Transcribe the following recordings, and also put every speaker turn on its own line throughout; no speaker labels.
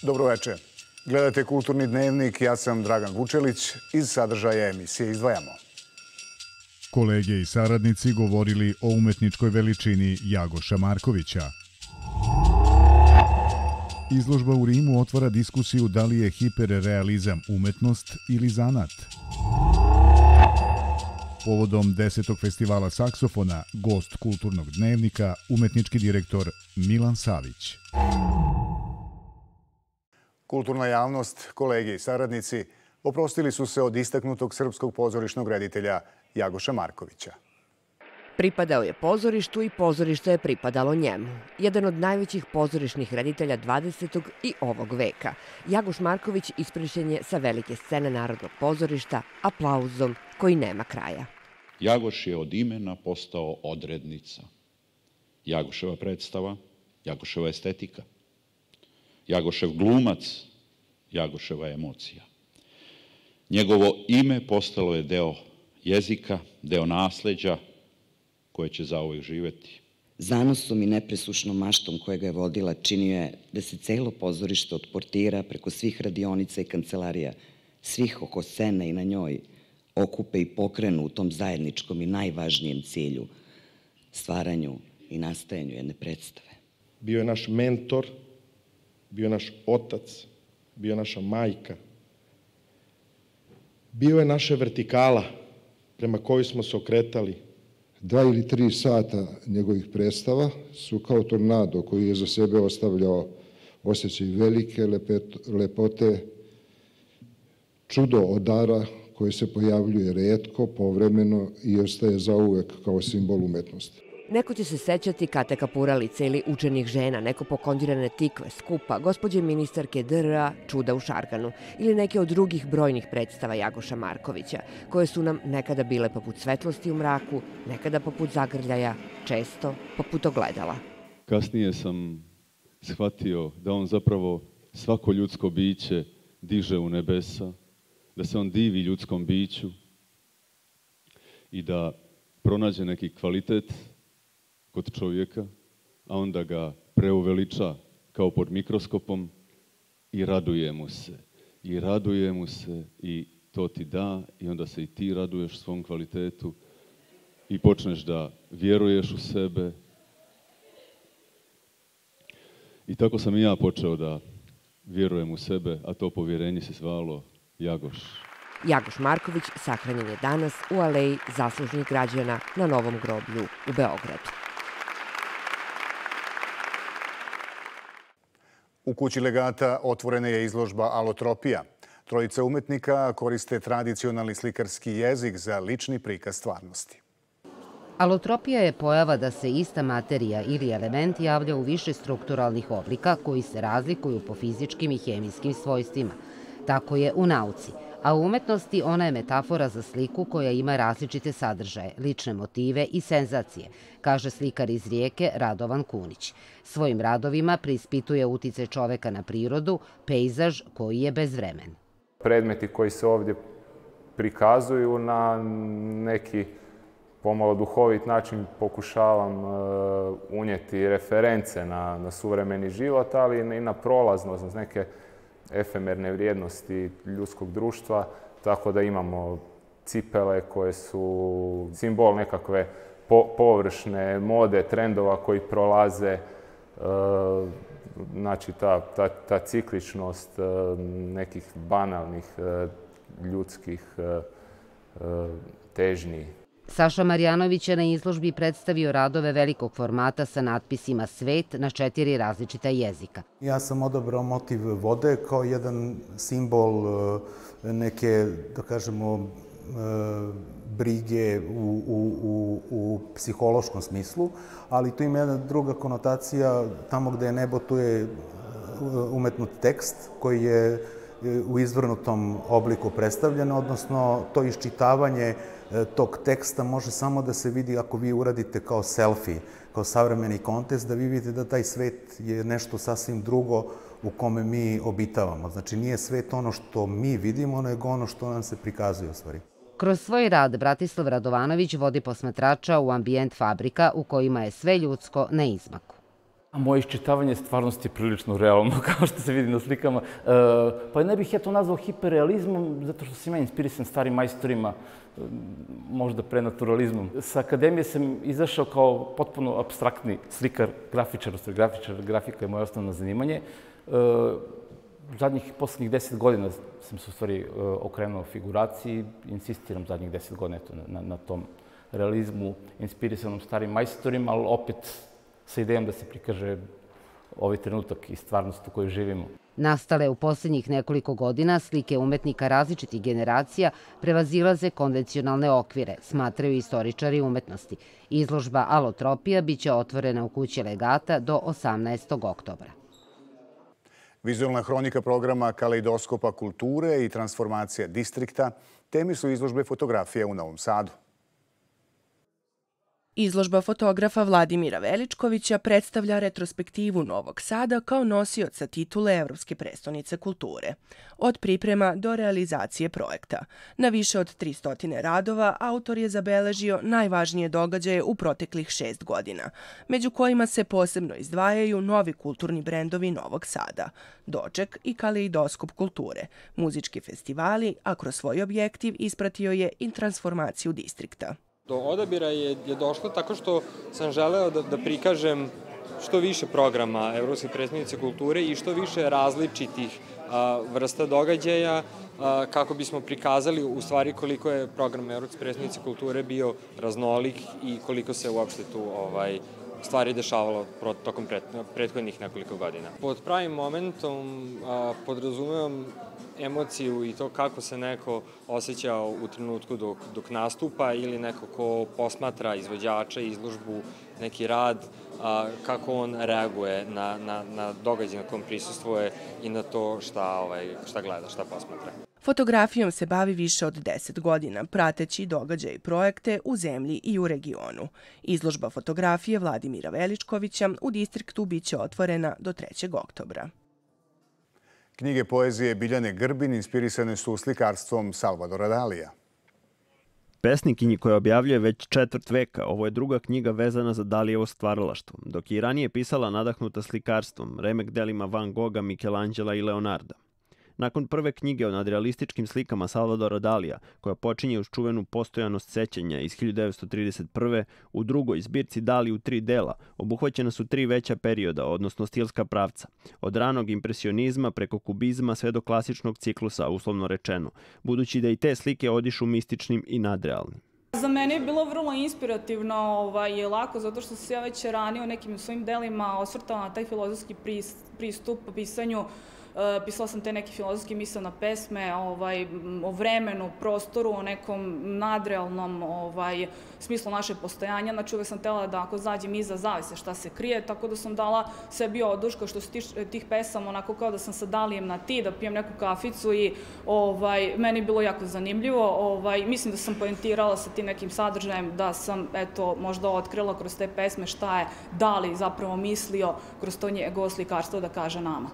Dobroveče. Gledate Kulturni dnevnik, ja sam Dragan Vučelić. Iz sadržaja emisije izdvajamo.
Kolege i saradnici govorili o umetničkoj veličini Jagoša Markovića. Izložba u Rimu otvara diskusiju da li je hiperrealizam umetnost ili zanat. Povodom 10. festivala saksofona, gost Kulturnog dnevnika, umetnički direktor Milan Savić.
Kulturna javnost, kolege i saradnici oprostili su se od istaknutog srpskog pozorišnog reditelja Jagoša Markovića.
Pripadao je pozorištu i pozorište je pripadalo njemu. Jedan od najvećih pozorišnih reditelja 20. i ovog veka. Jagoš Marković ispričan je sa velike scene Narodnog pozorišta aplauzom koji nema kraja.
Jagoš je od imena postao odrednica. Jagoševa predstava, Jagoševa estetika, Jagošev glumac, Jagoševa emocija. Njegovo ime postalo je deo jezika, deo nasleđa koje će zauvek živeti.
Zanosom i nepresušnom maštom koja ga je vodila činio je da se celo pozorište od portira preko svih radionica i kancelarija, svih oko scene i na njoj, okupe i pokrenu u tom zajedničkom i najvažnijem cilju, stvaranju i nastajanju jedne predstave.
Bio je naš mentor, bio je naš otac, bio je naša majka. Bio je naša vertikala prema kojoj smo se okretali.
2 ili 3 sata njegovih predstava su kao tornado koji je za sebe ostavljao osjećaj velike lepote, čudo od dara koje se pojavljuje retko, povremeno i ostaje zauvek kao simbol umetnosti.
Neko će se sećati Kate Kapuralice ili Učenih žena, neko pokondirane tikve, skupa, gospođe ministarke DRA, Čuda u Šarganu ili neke od drugih brojnih predstava Jagoša Markovića, koje su nam nekada bile poput svetlosti u mraku, nekada poput zagrljaja, često poput ogledala.
Kasnije sam shvatio da on zapravo svako ljudsko biće diže u nebesa, da se on divi ljudskom biću i da pronađe neki kvalitet kod čovjeka, a onda ga preuveliča kao pod mikroskopom i raduje mu se. I raduje mu se i to ti da i onda se i ti raduješ svom kvalitetu i počneš da vjeruješ u sebe. I tako sam i ja počeo da vjerujem u sebe, a to povjerenje se zvalo Jagoš.
Jagoš Marković sahranjen je danas u aleji zaslužnih građana na Novom groblju u Beogradu.
U kući legata otvorena je izložba Alotropija. Trojica umetnika koriste tradicionalni slikarski jezik za lični prikaz stvarnosti.
Alotropija je pojava da se ista materija ili element javlja u više strukturalnih oblika koji se razlikuju po fizičkim i hemijskim svojstvima. Tako je u nauci, a u umetnosti ona je metafora za sliku koja ima različite sadržaje, lične motive i senzacije, kaže slikar iz Rijeke Radovan Kunić. Svojim radovima preispituje uticaj čoveka na prirodu, pejzaž koji je bezvremen.
Predmeti koji se ovdje prikazuju na neki pomalo duhovit način pokušavam unijeti reference na suvremeni život, ali i na prolaznost, na neke efemerne vrijednosti ljudskog društva, tako da imamo cipele koje su simbol nekakve površne mode, trendova koji prolaze, znači ta cikličnost nekih banalnih ljudskih težnji.
Saša Marjanović je na izložbi predstavio radove velikog formata sa natpisima Svet na 4 različita jezika.
Ja sam odabrao motiv vode kao jedan simbol neke, da kažemo, brige u psihološkom smislu, ali tu ima jedna druga konotacija, tamo gde je nebo, tu je umetnut tekst koji je u izvrnutom obliku predstavljen, odnosno to iščitavanje tog teksta može samo da se vidi ako vi uradite kao selfie, kao savremeni kontest, da vi vidite da taj svet je nešto sasvim drugo u kome mi obitavamo. Znači nije svet ono što mi vidimo, nego ono što nam se prikazuje u stvari.
Kroz svoj rad Bratislav Radovanović vodi posmatrača u ambijent fabrika u kojima je sve ljudsko na izmaku.
Moje iščitavanje stvarnosti je prilično realno, kao što se vidi na slikama. Pa ne bih ja to nazvao hiperrealizmom, zato što sam ja inspirisan starim majstorima, možda prenaturalizmom. Sa akademije sam izašao kao potpuno apstraktni slikar, grafičar, grafika je moje osnovno zanimanje. Poslednjih 10 godina sam se u stvari okrenuo figuraciji, insistiram zadnjih 10 godina na tom realizmu, inspirisanom starim majstorima, ali opet sa idejom da se prikaže ovaj trenutak i stvarnost u kojoj živimo.
Nastale u posljednjih nekoliko godina, slike umetnika različitih generacija prevazilaze konvencionalne okvire, smatraju istoričari umetnosti. Izložba Alotropija biće otvorena u kući Legata do 18. oktobra.
Vizualna hronika programa Kaleidoskopa kulture i transformacija distrikta temi su izložbe fotografije u Novom Sadu.
Izložba fotografa Vladimira Veličkovića predstavlja retrospektivu Novog Sada kao nosioca titule Evropske prestonice kulture. Od priprema do realizacije projekta. Na više od 300 radova autor je zabeležio najvažnije događaje u proteklih 6 godina, među kojima se posebno izdvajaju novi kulturni brendovi Novog Sada, Doček i Kaleidoskop kulture, muzički festivali, a kroz svoj objektiv ispratio je i transformaciju distrikta.
Do odabira je došlo tako što sam želeo da prikažem što više programa Evropske prestonice kulture i što više različitih vrsta događaja kako bismo prikazali u stvari koliko je program Evropske prestonice kulture bio raznolik i koliko se uopšte tu stvari dešavalo tokom prethodnih nekoliko godina. Pod pravim momentom podrazumevam emociju i to kako se neko osjeća u trenutku dok nastupa ili neko ko posmatra izvođača, izložbu, neki rad, kako on reaguje na događaj na kom prisustvuje i na to šta gleda, šta posmatra.
Fotografijom se bavi više od 10 godina, prateći događaje i projekte u zemlji i u regionu. Izložba fotografije Vladimira Veličkovića u distriktu biće otvorena do 3. oktobra.
Knjige poezije Biljane Grbin inspirisane su slikarstvom Salvadora Dalija.
Pesnikinji koja objavljuje već 4 veka, ovo je druga knjiga vezana za Dalijevo stvaralaštvo, dok je i ranije pisala nadahnuta slikarstvom, remek delima Van Gogha, Michelangela i Leonarda. Nakon prve knjige o nadrealističkim slikama Salvadora Dalija, koja počinje uz čuvenu Postojanost sećanja iz 1931. u drugoj zbirci Dali u 3 dela, obuhvaćena su 3 veća perioda, odnosno stilska pravca. Od ranog impresionizma preko kubizma sve do klasičnog ciklusa, uslovno rečeno, budući da i te slike odišu mističnim i nadrealnim.
Za mene je bilo vrlo inspirativno i lako, zato što se ja već ranije u nekim svojim delima osvrtala na taj filozofski pristup pisanju. Pisala sam te neke filozofske misaone pesme o vremenu, prostoru, o nekom nadrealnom smislu naše postojanja. Znači uvek sam htela da ako zađem iza zavese šta se krije, tako da sam dala sebi oduška što se tih pesama onako kao da sam sa Dalijem na ti, da pijem neku kaficu i meni je bilo jako zanimljivo. Mislim da sam poentirala sa tim nekim sadržajem, da sam možda otkrila kroz te pesme šta je Dali zapravo mislio kroz to njegovo slikarstvo da kaže nama.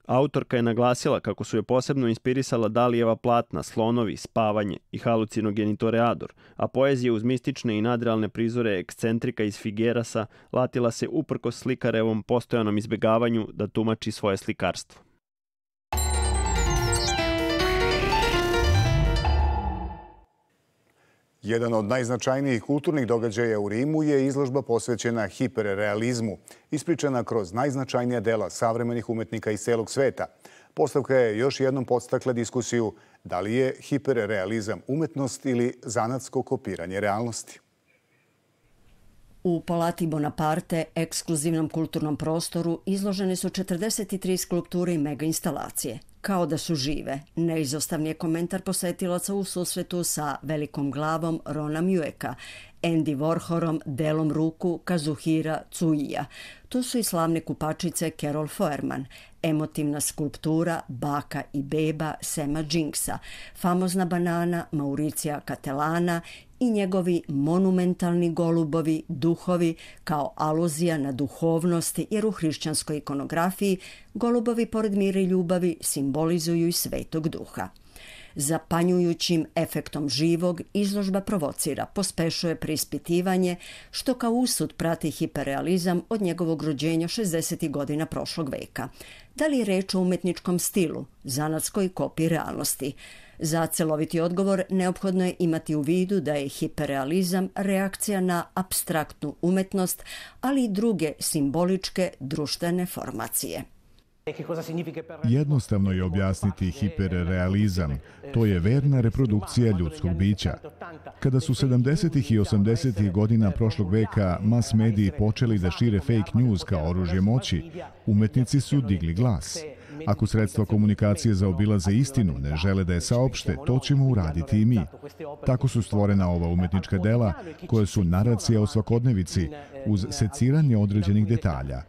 Autorka je naglasila kako su je posebno inspirisala Dalijeva platna Slonovi, Spavanje i Halucinogeni Toreador, a poezija uz mistične i nadrealne prizore ekscentrika iz Figuerasa latila se uprkos slikarevom postojanom izbegavanju da tumači svoje slikarstvo.
Jedan od najznačajnijih kulturnih događaja u Rimu je izložba posvećena hiperrealizmu, ispričana kroz najznačajnija dela savremenih umetnika iz celog sveta. Postavka je još jednom podstakla diskusiju da li je hiperrealizam umetnost ili zanatsko kopiranje realnosti.
U Palati Bonaparte, ekskluzivnom kulturnom prostoru, izložene su 43 skulpture i mega instalacije. Kao da su žive, neizostavni je komentar posetilaca u susretu sa velikom glavom Rona Mjueka, Andy Warholom, delom ruku Kazuhira Tsuija. Tu su i slavne kupačice Carol Foerman, emotivna skulptura Baka i beba Sema Jinksa, famozna banana Mauricija Catelana i njegovi monumentalni golubovi, duhovi, kao aluzija na duhovnost, jer u hrišćanskoj ikonografiji golubovi pored mira i ljubavi simbolizuju i svetog duha. Zapanjujućim efektom živog izložba provocira, pospešuje preispitivanje, što kao usud prati hiperrealizam od njegovog rođenja 60. godina prošlog veka. Da li je reč o umetničkom stilu, zanatskoj kopiji realnosti? Za celoviti odgovor neophodno je imati u vidu da je hiperrealizam reakcija na apstraktnu umetnost, ali i druge simboličke društvene formacije.
Jednostavno je objasniti hiperrealizam. To je verna reprodukcija ljudskog bića. Kada su 70. i 80. godina prošlog veka mas mediji počeli da šire fake news kao oružje moći, umetnici su digli glas. Ako sredstva komunikacije zaobilaze istinu, ne žele da je saopšte, to ćemo uraditi i mi. Tako su stvorena ova umetnička dela, koje su naracija o svakodnevici, uz seciranje određenih detalja.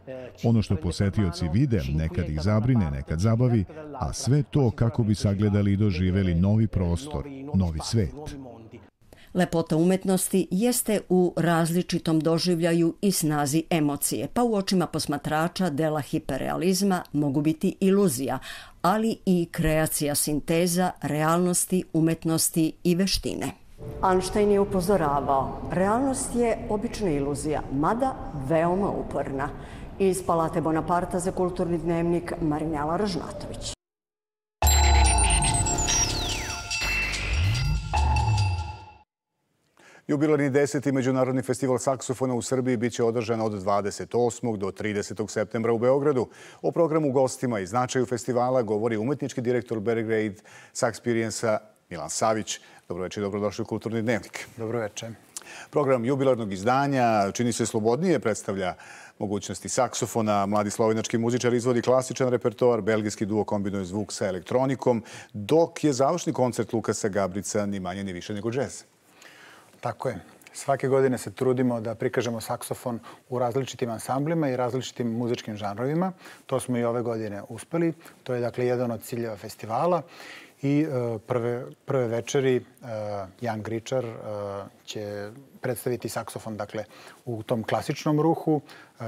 Ono što posetioci vide, nekad ih zabrine, nekad zabavi, a sve to kako bi sagledali i doživeli novi prostor, novi svet.
Lepota umetnosti jeste u različitom doživljaju i snazi emocije, pa u očima posmatrača dela hiperrealizma mogu biti iluzija, ali i kreacija sinteza realnosti, umetnosti i veštine. Einstein je upozoravao, realnost je obična iluzija, mada veoma uporna. Iz Palate Bonaparta za Kulturni dnevnik Marinela Ražnatović.
Jubilarni 10. Međunarodni festival saksofona u Srbiji biće održan od 28. do 30. septembra u Beogradu. O programu, gostima i značaju festivala govori umetnički direktor Belgrade Saxperience-a Milan Savić. Dobroveče i dobrodošli u Kulturni dnevnik.
Dobroveče.
Program jubilarnog izdanja čini se slobodnije, predstavlja mogućnosti saksofona. Mladi slovenački muzičar izvodi klasičan repertoar, belgijski duo kombinuje zvuk sa elektronikom, dok je završni koncert Lukasa Gabrica ni manje ni više nego džez.
Tako je. Svake godine se trudimo da prikažemo saksofon u različitim ansamblima i različitim muzičkim žanrovima. To smo i ove godine uspeli. To je dakle jedan od ciljeva festivala. I prve večeri Jan Gričar će predstaviti saksofon dakle, u tom klasičnom ruhu.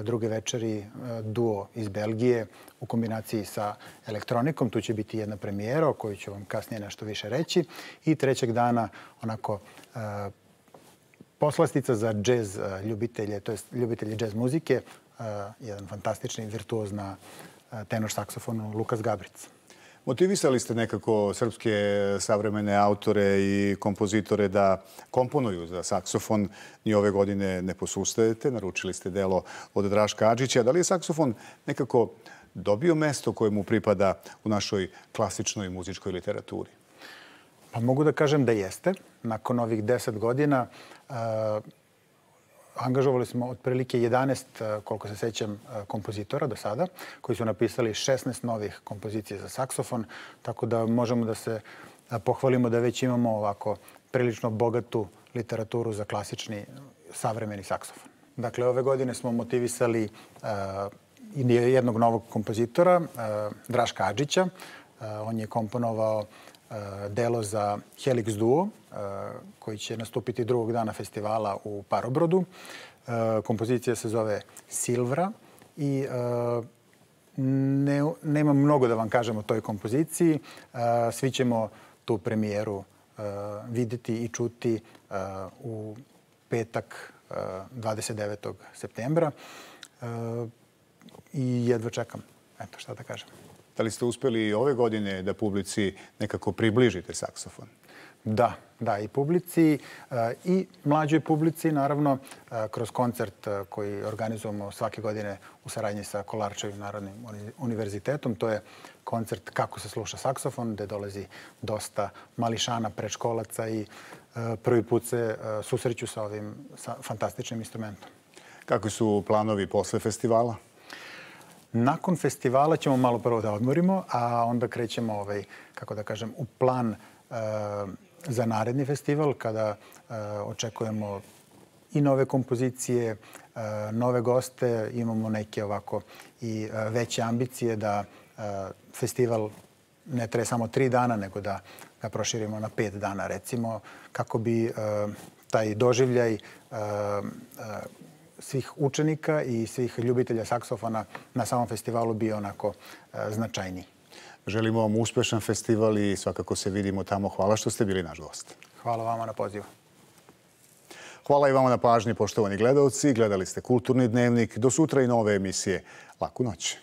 Druge večeri duo iz Belgije u kombinaciji sa elektronikom. Tu će biti jedna premijera o kojoj ću vam kasnije nešto više reći. I trećeg dana onako poslastica za džez ljubitelje, to jest ljubitelji džez muzike, jedan fantastični virtuoz na tenor saksofonu Lukas Gabric.
Motivisali ste nekako srpske savremene autore i kompozitore da komponuju za saksofon. Ni ove godine ne posustajete. Naručili ste delo od Draška Adžića. Da li je saksofon nekako dobio mesto koje mu pripada u našoj klasičnoj muzičkoj literaturi?
Pa mogu da kažem da jeste. Nakon ovih 10 godina angažovali smo otprilike 11, koliko se sećam, kompozitora do sada, koji su napisali 16 novih kompozicija za saksofon, tako da možemo da se pohvalimo da već imamo ovako prilično bogatu literaturu za klasični savremeni saksofon. Dakle, ove godine smo motivisali jednog novog kompozitora, Draška Adžića. On je komponovao delo za Helix duo, koji će nastupiti drugog dana festivala u Parobrodu. Kompozicija se zove Silvra i nema mnogo da vam kažem o toj kompoziciji. Svi ćemo tu premijeru videti i čuti u petak 29. septembra. I jedva čekam. Eto, šta da kažem.
Da li ste uspeli i ove godine da publici nekako približite saksofon?
Da, i publici i mlađoj publici, naravno, kroz koncert koji organizujemo svake godine u saradnji sa Kolarčevim Narodnim univerzitetom. To je koncert Kako se sluša saksofon, gde dolazi dosta mališana, predškolaca i prvi put se susreću sa ovim fantastičnim instrumentom.
Kakvi su planovi posle festivala?
Nakon festivala ćemo malo prvo da odmorimo, a onda krećemo, kako da kažem, u plan za naredni festival, kada očekujemo i nove kompozicije, nove goste, imamo neke ovako i veće ambicije da festival ne traje samo 3 dana, nego da ga proširimo na 5 dana, recimo, kako bi taj doživljaj svih učenika i svih ljubitelja saksofona na samom festivalu bio onako značajniji.
Želimo vam uspešan festival i svakako se vidimo tamo. Hvala što ste bili naš gost.
Hvala vama na pozivu.
Hvala i vama na pažnji, poštovani gledaoci. Gledali ste Kulturni dnevnik. Do sutra i nove emisije. Laku noć.